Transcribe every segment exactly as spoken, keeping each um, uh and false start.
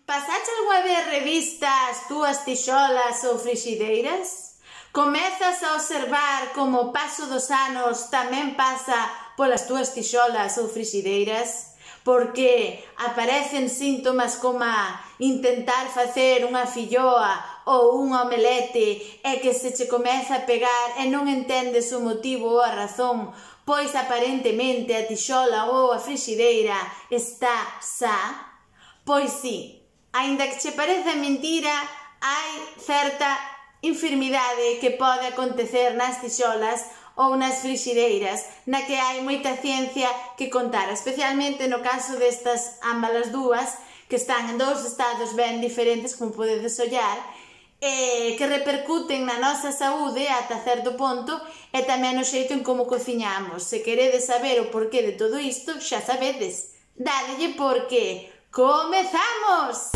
Pasache algunha vez revista as túas tixolas ou frixideiras? Comezas a observar como o paso dos anos tamén pasa polas túas tixolas ou frixideiras? Porque aparecen síntomas como intentar facer unha filloa ou un omelete e que se che comeza a pegar e non entendes o motivo ou a razón, pois aparentemente a tixola ou a frixideira está sa? Pois si, aínda que che pareza mentira, hai certa enfermidade que pode acontecer nas tixolas ou nas frixideiras, na que hai moita ciencia que contar, especialmente no caso destas ambas as dúas, que están en dous estados ben diferentes, como podedes ollar, e que repercuten na nosa saúde ata certo ponto e tamén no xeito en como cociñamos. Se queredes saber o porqué de todo isto, xa sabedes. Dádelle porque comezamos!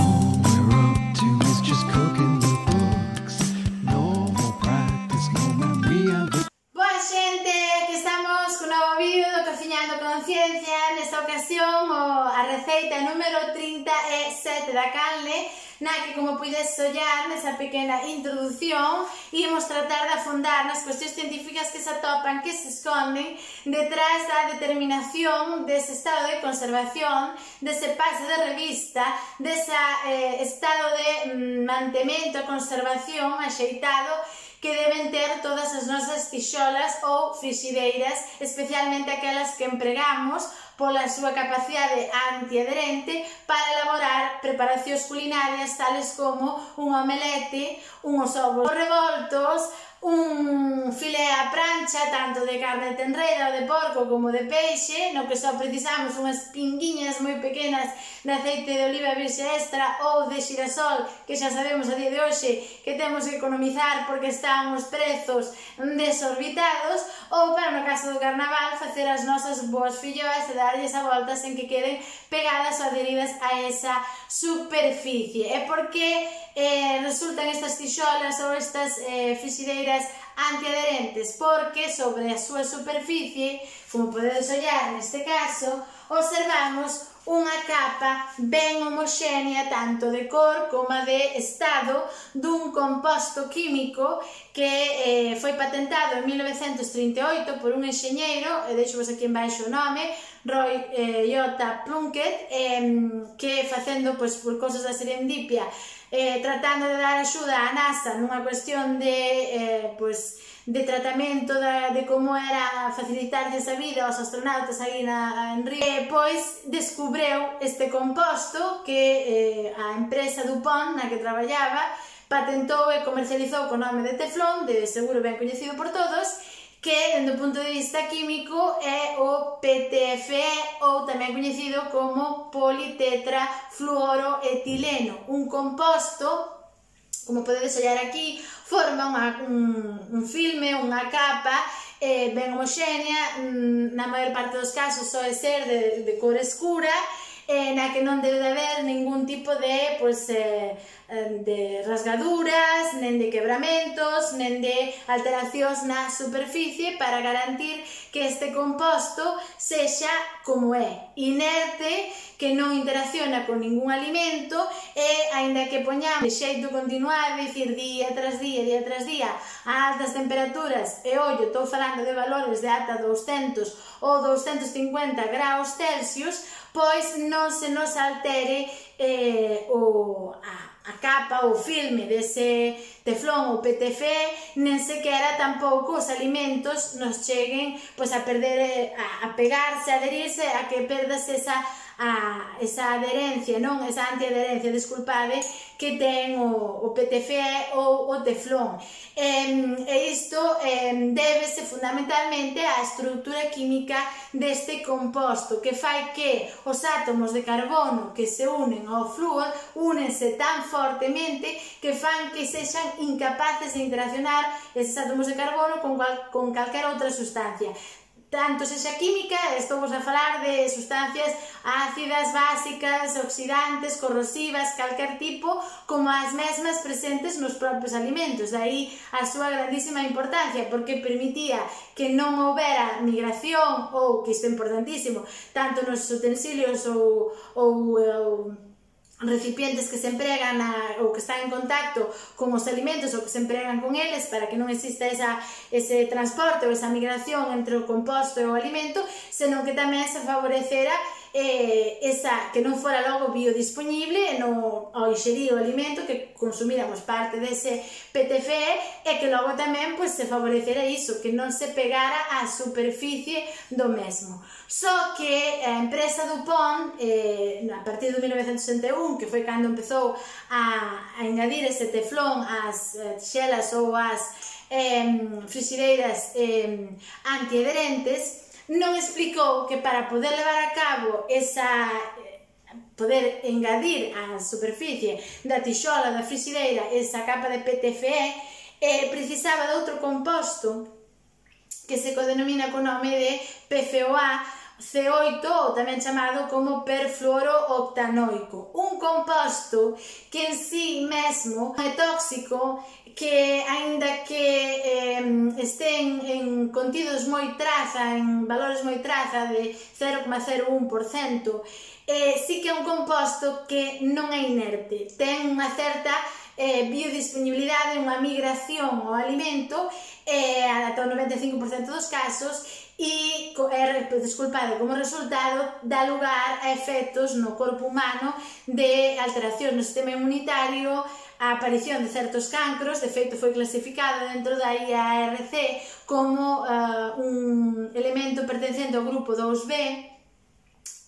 Conciencia, nesta ocasión a receita número trinta e sete da canle, na que, como podes ollar nesa pequena introdución, íamos tratar de afondar nas cuestións científicas que se atopan, que se esconden detrás da determinación dese estado de conservación, dese pase de revista, dese eh, estado de mm, mantemento e conservación axeitado que deben ter todas as nosas tixolas ou frixideiras, especialmente aquelas que empregamos pola súa capacidade antiadherente para elaborar preparacións culinarias tales como un omelete, unhos ovos revoltos, un filé á prancha, tanto de carne tenreira ou de porco como de peixe, no que só precisamos unhas pinguiñas moi pequenas de aceite de oliva virxe extra ou de xirasol, que xa sabemos a día de hoxe que temos que economizar porque están os prezos desorbitados, ou para no caso do carnaval facer as nosas boas filloas e darlles a volta sen que queden pegadas ou adheridas a esa superficie. E por que eh, resultan estas tixolas ou estas eh, frixideiras antiadherentes? Porque sobre a súa superficie, como podedes ollar neste caso, observamos unha capa ben homoxénea tanto de cor como de estado dun composto químico que eh, foi patentado en mil novecentos trinta e oito por un enxeñeiro, e deixo vos aquí en baixo o nome, Roy eh, J. Plunkett, eh, que facendo pois, por cosas da serendipia, eh, tratando de dar axuda á NASA nunha cuestión de eh, pois, de tratamento da, de como era facilitarlles a vida aos astronautas aí na, en Río, e pois descubreu este composto que eh, a empresa DuPont na que traballaba patentou e comercializou co nome de teflón, de seguro ben coñecido por todos, que, dende o punto de vista químico, é o P T F E, ou tamén coñecido como politetrafluoroetileno, un composto, como podedes ollar aquí, forma unha, un, un filme, unha capa eh, ben homoxénea, na maior parte dos casos soe ser de, de cor escura, eh, na que non debe de haber ningún tipo de, pues, eh, de rasgaduras, nen de quebramentos, nen de alteracións na superficie para garantir que este composto sexa como é, inerte, que non interacciona con ningún alimento e, aínda que poñamos de xeito continuado, dicir día tras día, día tras día, a altas temperaturas, e ollo, estou falando de valores de ata douscentos ou douscentos cincuenta graus Celsius, pois non se nos altere eh, o, a, a capa ou filme dese teflón ou P T F E, nen sequera tampouco os alimentos nos cheguen pois, a perder, a, a pegarse, a adherirse, a que perdas esa, a, esa adherencia, non? Esa antiadherencia, disculpade, que ten o, o P T F E ou o teflón. E, e isto eh, débese fundamentalmente á estructura química deste composto, que fai que os átomos de carbono que se unen ao flúor únense tan fortemente que fan que sexan incapaces de interaccionar eses átomos de carbono con, cual, con calquera outra sustancia. Tanto sexa química, estou vos a falar de sustancias ácidas, básicas, oxidantes, corrosivas, calquer tipo, como as mesmas presentes nos propios alimentos. Daí a súa grandísima importancia, porque permitía que non houbera migración, ou, que isto é importantísimo, tanto nos utensilios ou, ou, ou recipientes que se empregan na, ou que están en contacto con os alimentos ou que se empregan con eles para que non exista esa, ese transporte ou esa migración entre o composto e o alimento, senón que tamén se favorecera eh, esa, que non fora logo biodisponible no, ao inxerir o alimento, que consumíramos parte dese P T F E e que logo tamén pues, se favorecera iso, que non se pegara á superficie do mesmo. Só que a empresa DuPont, eh, a partir de mil novecentos sesenta e un, que foi cando empezou a, a engadir ese teflón ás eh, tixelas ou ás eh, frixideiras eh, antiadherentes, non explicou que para poder levar a cabo esa, poder engadir á superficie da tixola da frixideira esa capa de P T F E, eh, precisaba de outro composto que se codenomina co nome de P F O A C oito, ou tamén chamado como perfluorooctanoico, un composto que en sí mesmo é tóxico, que aínda que eh, estén en contidos moi traza, en valores moi traza de cero coma cero un por cento, eh, sí que é un composto que non é inerte, ten unha certa eh, biodisponibilidade, unha migración ao alimento, eh, ata o noventa e cinco por cento dos casos, e é desculpado como resultado dá lugar a efectos no corpo humano de alteración no sistema inmunitario, a aparición de certos cancros. De feito foi clasificado dentro da I A R C como uh, un elemento pertencente ao grupo dous B,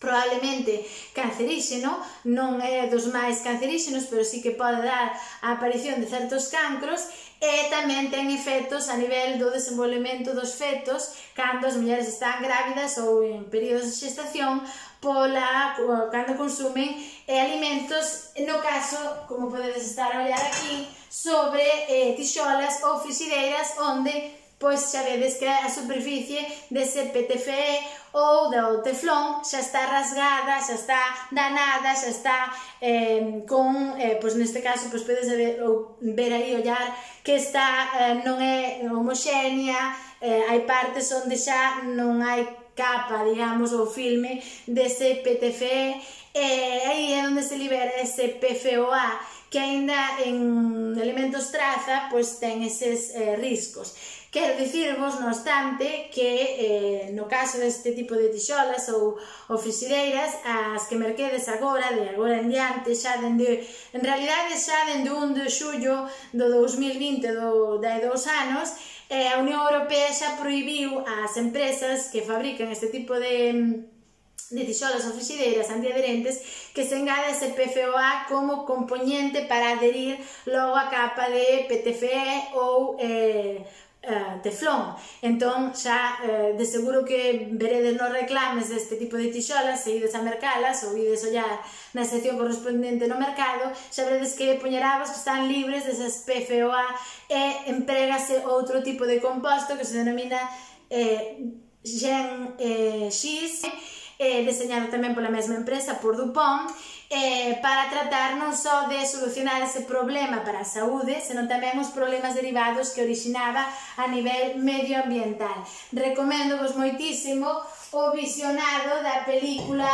probablemente canceríxeno, non é dos máis canceríxenos, pero sí que pode dar a aparición de certos cancros, e tamén ten efectos a nivel do desenvolvemento dos fetos cando as mulleres están grávidas ou en períodos de xestación, pola, cando consumen eh, alimentos, no caso, como podedes estar a olhar aquí, sobre eh, tixolas ou frixideiras onde pois xa vedes que a superficie dese P T F E ou do teflón xa está rasgada, xa está danada, xa está eh, con, eh, pois neste caso, pois podes ver, ou ver aí, ollar, que está, eh, non é homoxénea, eh, hai partes onde xa non hai capa, digamos, ou filme dese P T F E, e aí é onde se libera ese P F O A, que aínda en elementos traza, pois ten eses eh, riscos. Quero dicirvos, no obstante, que eh, no caso deste tipo de tixolas ou, ou frixideiras, as que merquedes agora, de agora en diante, xa dende, en realidade xa dende un de xullo do dous mil vinte, do, de hai dous anos, eh, a Unión Europea xa prohibiu ás empresas que fabrican este tipo de de tixolas ou frixideiras antiadherentes que se engade ese P F O A como componente para adherir logo a capa de P T F E ou eh, Uh, teflón. Entón xa uh, de seguro que veredes nos reclames deste tipo de tixolas, se ides a mercalas ou ides ollar na sección correspondente no mercado, xa veredes que poñerabas que están libres desas P F O A e empregase outro tipo de composto que se denomina eh, Gen eh, X, eh, deseñado tamén pola mesma empresa, por DuPont, Eh, para tratar non só de solucionar ese problema para a saúde, senón tamén os problemas derivados que orixinaba a nivel medioambiental. Recoméndovos moitísimo o visionado da película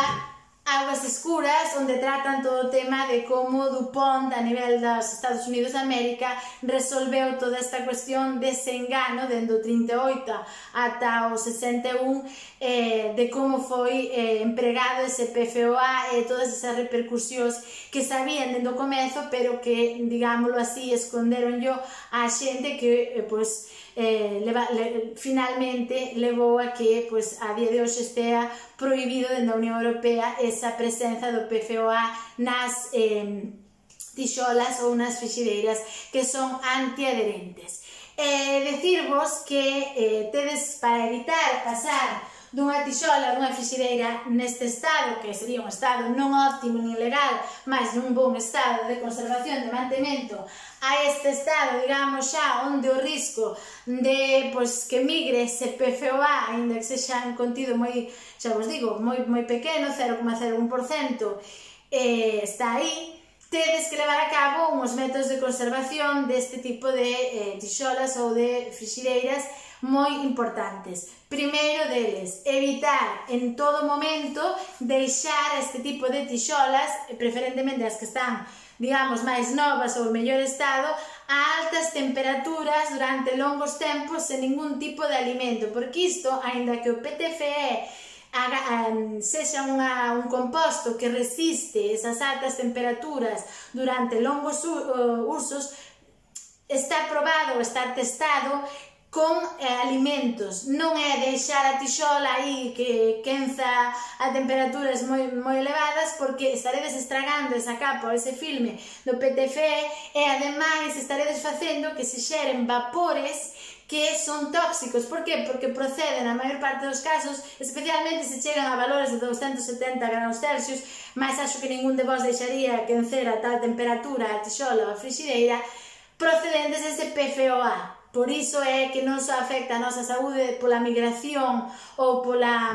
Aguas Escuras, onde tratan todo o tema de como DuPont a nivel dos Estados Unidos de América resolveu toda esta cuestión dese engano dende o trinta e oito ata o sesenta e un, eh, de como foi eh, empregado ese P F O A e todas esas repercusións que sabían dende o comezo, pero que, digámoslo así, esconderon yo a xente que, eh, pues, Eh, leva, le, finalmente levou a que pues, a día de hoxe estea prohibido dentro da Unión Europea esa presenza do P F O A nas eh, tixolas ou nas frixideiras que son antiadherentes. Eh, decirvos que eh, tedes, para evitar pasar dunha tixola, dunha frixideira neste estado, que sería un estado non óptimo ni legal, mas nun bon estado de conservación, de mantemento, a este estado, digamos, xa onde o risco de pois, que migre ese P F O A, ainda que sexa un contido moi, xa vos digo, moi, moi pequeno, cero coma cero un por cento, eh, está aí, tedes que levar a cabo uns métodos de conservación deste tipo de eh, tixolas ou de frixideiras moi importantes. Primeiro deles, evitar en todo momento deixar este tipo de tixolas, preferentemente as que están, digamos, máis novas ou en mellor estado, a altas temperaturas durante longos tempos sen ningún tipo de alimento, porque isto, aínda que o P T F E sexa unha, un composto que resiste esas altas temperaturas durante longos usos, está probado, está testado con eh, alimentos. Non é deixar a tixola aí que quenza a temperaturas moi, moi elevadas, porque estaredes estragando esa capa ou ese filme do P T F E e ademais estaredes facendo que se xeren vapores que son tóxicos. Por que? Porque proceden, na maior parte dos casos, especialmente se chegan a valores de doscientos setenta graus Celsius, mas acho que ningún de vos deixaría quencer a tal temperatura a tixola ou a frixideira, procedentes dese P F O A. Por iso é que non só afecta a nosa saúde pola migración ou pola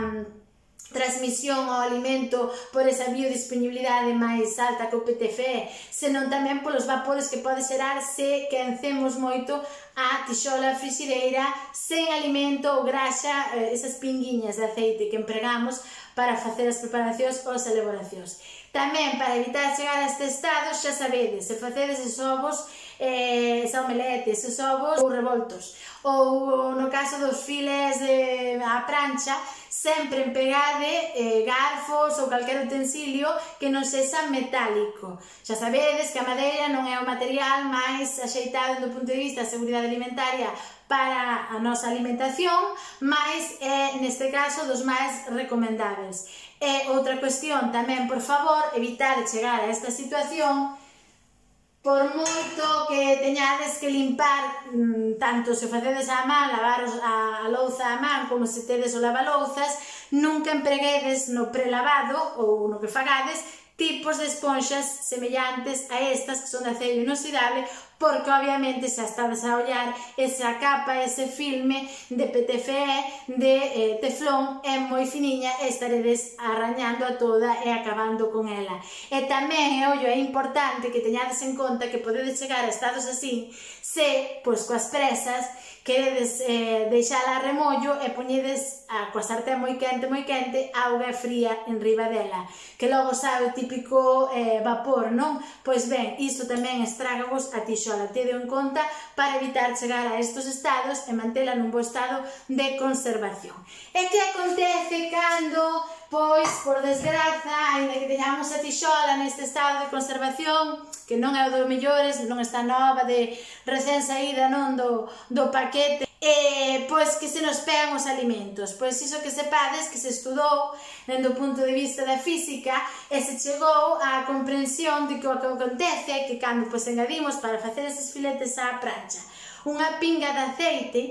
transmisión ao alimento por esa biodisponibilidade máis alta que o P T F E, senón tamén polos vapores que pode xerar se quencemos moito a tixola frixideira sen alimento ou graxa, esas pinguiñas de aceite que empregamos para facer as preparacións ou as elaboracións. Tamén, para evitar chegar a este estado, xa sabedes, se facedes os ovos, eh, esa omelete, esos ovos ou revoltos, ou no caso dos files de, a prancha, sempre empregade eh, garfos ou calquer utensilio que non sexa metálico. Xa sabedes que a madeira non é o material máis axeitado do punto de vista da seguridade alimentaria para a nosa alimentación, mas é, neste caso, dos máis recomendáveis. E outra cuestión tamén, por favor, evitar chegar a esta situación. Por moito que teñades que limpar, tanto se facedes a man, lavar a louza a man, como se tedes o lavalouzas, nunca empreguedes no prelavado ou no que fagades tipos de esponxas semellantes a estas que son de aceiro inoxidable, porque obviamente xa estades a ollar esa capa, ese filme de P T F E, de eh, teflón, é moi finiña e estaredes arrañando a toda e acabando con ela. E tamén, ollo, é importante que teñades en conta que podedes chegar a estados así se, pois, coas presas, queredes eh, deixala a remollo e poñedes a, coa sartén moi quente, moi quente, auga fría en riba dela, que logo sabe o típico eh, vapor, non? Pois ben, isto tamén estragavos a tixola. Tede en conta para evitar chegar a estos estados e mantela nun bo estado de conservación. E que acontece cando, pois, por desgraza, ainda que teñamos a tixola neste estado de conservación, que non é o dos mellores, non está nova, de recén saída, non do, do paquete, e, pois, que se nos pegan os alimentos. Pois iso que sepades, que se estudou dende o punto de vista da física e se chegou á comprensión de que o que acontece é que cando, pois, engadimos para facer eses filetes á prancha unha pinga de aceite,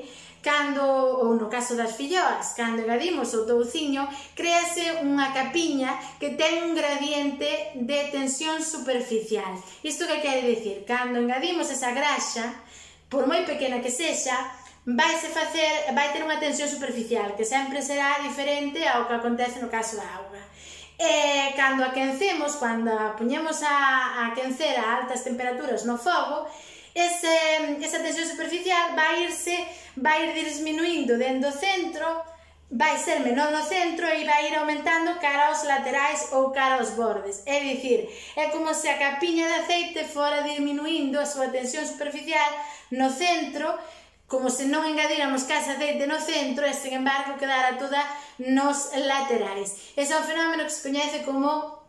cando, ou no caso das filloas, cando engadimos o touciño, créase unha capiña que ten un gradiente de tensión superficial. Isto que quere dicir? Cando engadimos esa graxa, por moi pequena que sexa, vaise facer, vai ter unha tensión superficial, que sempre será diferente ao que acontece no caso da auga. E cando a quencemos, cando a poñemos a, a quencer a altas temperaturas no fogo, ese, esa tensión superficial vai irse, vai ir disminuindo dentro do centro, vai ser menor no centro e vai ir aumentando cara aos laterais ou cara aos bordes. É dicir, é como se a capiña de aceite fora disminuindo a súa tensión superficial no centro, como se non engadíramos case aceite no centro e, sen embargo, quedara toda nos laterais. Ese é un fenómeno que se coñece como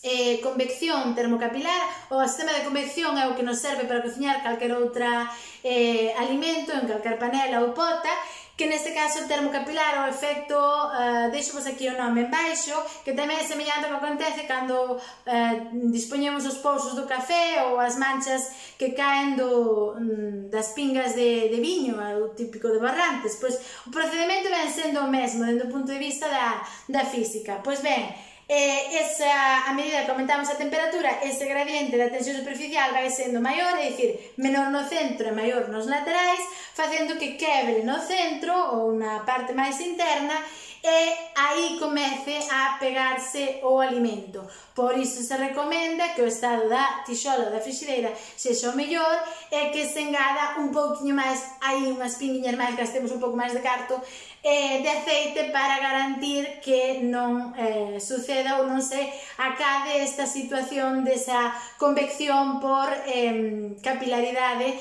eh, convección termocapilar, ou o sistema de convección é o que nos serve para cociñar calquer outra eh, alimento en calquer panela ou pota, que neste caso termocapilar, o efecto, uh, deixo-vos aquí o nome en baixo, que tamén é semellante ao que acontece cando uh, dispoñemos os pousos do café ou as manchas que caen do, um, das pingas de, de viño, o típico de Barrantes. Pois o procedimento ven sendo o mesmo, dentro do punto de vista da, da física. Pois ben, Eh, esa, a medida que aumentamos a temperatura, ese gradiente da tensión superficial vai sendo maior, é dicir, menor no centro e maior nos laterais, facendo que quebre no centro ou na parte máis interna e aí comece a pegarse o alimento. Por iso se recomenda que o estado da tixola ou da frixideira sexa o mellor e que se engada un pouquinho máis, aí unhas pinguiñas máis, gastemos un pouco máis de carto, eh, de aceite para garantir que non eh, suceda ou non se acabe esta situación desa convección por eh, capilaridade.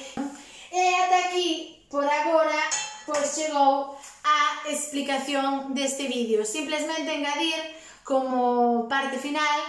E ata aquí, por agora, pois chegou a explicación deste vídeo. Simplemente engadir como parte final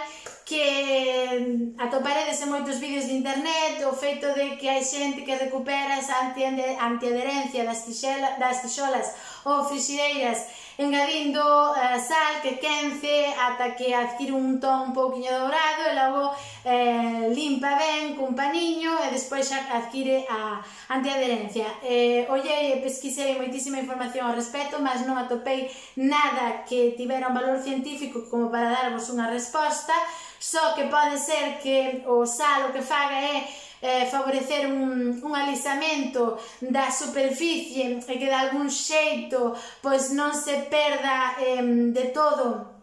que atoparedes en moitos vídeos de internet o feito de que hai xente que recupera esa antiadherencia das tixolas ou frixideiras engadindo uh, sal que quence ata que adquire un ton un pouquinho dourado e logo eh, limpa ben cun paniño e despois xa adquire a antiadherencia. Eh, ollei e pesquisei moitísima información ao respecto, mas non atopei nada que tivera un valor científico como para darvos unha resposta, só que pode ser que o sal o que faga é eh, favorecer un, un alisamento da superficie e que de algún xeito pois non se perda eh, de todo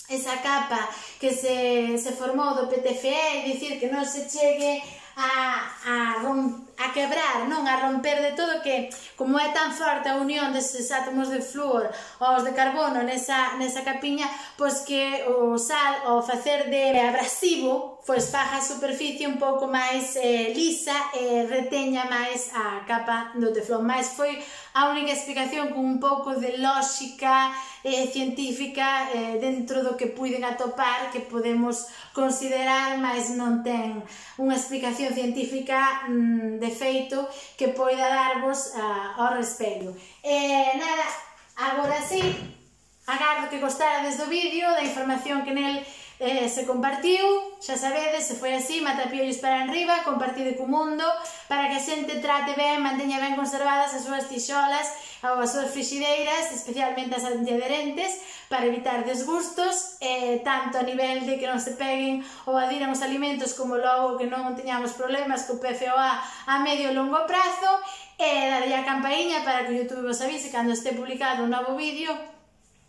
esa capa que se, se formou do P T F E, é dicir, que non se chegue a, a, a quebrar, non a romper de todo, que como é tan forte a unión deses átomos de flúor aos de carbono nesa, nesa capiña, pois que o sal ao facer de abrasivo pois faja a superficie un pouco máis eh, lisa e reteña máis a capa do teflón. Mais foi a única explicación con un pouco de lógica eh, científica eh, dentro do que puiden atopar, que podemos considerar, mas non ten unha explicación científica mm, de feito que poida darvos uh, ao respecto. E nada, agora sí, agardo que gostarades do vídeo, da información que nel Eh, se compartiu, xa sabedes, se foi así, matapiollos para enriba, compartide co mundo, para que a xente trate ben, manteña ben conservadas as súas tixolas ou as súas frixideiras, especialmente as antiadherentes, para evitar desgustos, eh, tanto a nivel de que non se peguen ou adiran os alimentos, como logo que non teñamos problemas co P F O A a medio e longo prazo, e darlle a campaíña para que YouTube vos avise cando este publicado un novo vídeo,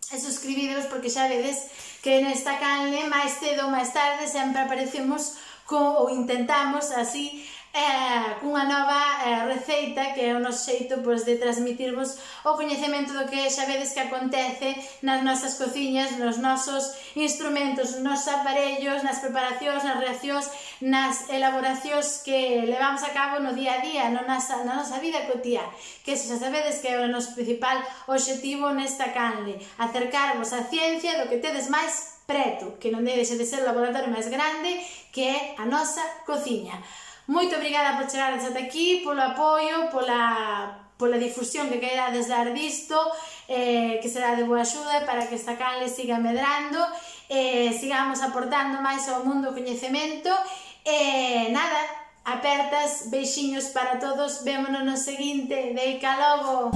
e suscribíderos, porque xa vedes que nesta canle máis cedo ou máis tarde sempre aparecemos co, ou intentamos así eh, cunha nova eh, receita que é o noso xeito pois, de transmitirvos o coñecemento do que xa vedes que acontece nas nosas cociñas, nos nosos instrumentos, nos nosos aparellos, nas preparacións, nas reaccións, nas elaboracións que levamos a cabo no día a día, na nosa, na nosa vida cotía, que xa sabedes que é o noso principal obxectivo nesta canle, acercarvos á ciencia do que tedes máis preto, que non deixe de ser o laboratorio máis grande que é a nosa cociña. Moito obrigada por chegardes ata aquí, polo apoio, pola, pola difusión que queirades dar disto, eh, que será de boa axuda para que esta canle siga medrando, eh, sigamos aportando máis ao mundo o coñecemento, e eh, nada, apertas, beixiños para todos, vémonos no seguinte, deica logo!